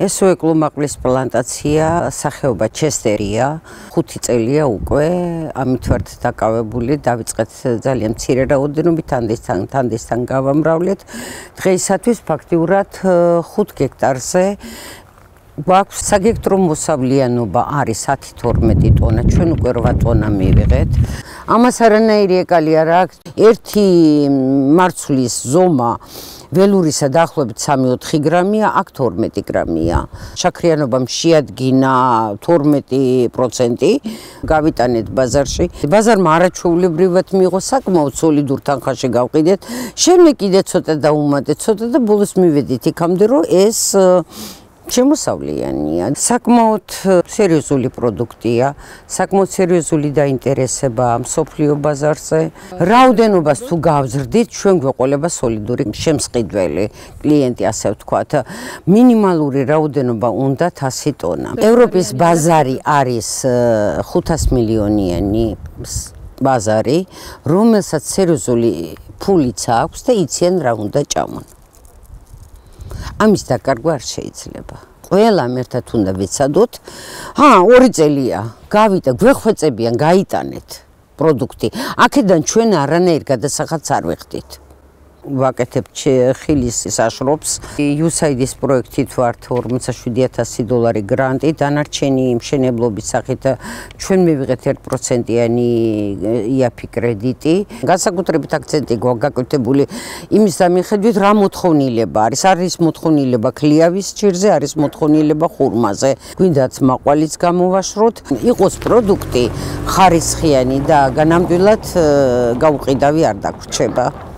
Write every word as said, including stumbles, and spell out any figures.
ესო ეკლუმაყლის პლანტაცია სახეობა ჩესტერია, ხუთი წელია უკვე, ამით ვართ დაკავებული, დავიწყეთ ძალიან მცირე რაოდენობით, თანდისთან თანდისთან გავამრავლეთ. დღეისათვის ფაქტიურად ხუთ გექტარზე გვაქვს საგექტრო მოსავლიანობა არის ათი თორმეტი ტონა, ჩვენ უკვე რვა ტონა მივიღეთ. ამას არანაირი ეკალი არ აქვს. ერთი მარცვლის ზომა ველურისა დაახლოებით სამი ოთხი გრამია, აქ თორმეტი გრამია. შაქრიანობამ შეადგინა თორმეტი პროცენტი, გავიტანეთ ბაზარში. ბაზარმა არაჩვეულებრივად მიიღო, საკმაოდ სოლიდურ თანხაში გავყიდეთ. შემდეგ კიდე ცოტა დაუმატეთ, ცოტა და ბოლოს მივედით იქამდე, რომ ეს შემოსავლიანია. საკმაოდ სერიოზული პროდუქტია, საკმაოდ სერიოზული დაინტერესება მსოფლიო ბაზარზე. რაოდენობას თუ გავზრდით, ჩვენ გვეყოლება სოლიდური შემსყიდველი კლიენტი, ასე ვთქვათ. მინიმალური რაოდენობა უნდა ასი ტონა. ევროპის ბაზარი არის ხუთას მილიონიანი ბაზარი, რომელსაც სერიოზული ფულიც აქვს და იციან რა უნდა ჭამონ. ამის დაკარგვა არ შეიძლება. ყველამ ერთად უნდა ვიცადოთ. ჰა, ორი წელია გავიდა, გვეხვეწებიან, გაიტანეთ პროდუქტი. აქედან ჩვენ არანაირ გადასახადს არ ვიხდით. ვაკეთებ ხილის საშრობს. იუ ეს აი დის პროექტით ვართ ორმოცდაშვიდი ათასი დოლარი გრანტი, დანარჩენი მშენებლობის სახით ჩვენ მივიღეთ ერთ პროცენტიანი ი აფ ი კრედიტი. განსაკუთრებით აქცენტი გვაქვს გაკეთებული იმის დამიხედვით, რა მოთხოვნილება არის. არის მოთხოვნილება ქლიავის ჭირზე, არის მოთხოვნილება ხურმაზე. გვინდათ მაყვალიც გამოვაშროთ, იყოს პროდუქტი ხარისხიანი და განამდვილად გაუყიდავი არ დაგვრჩება.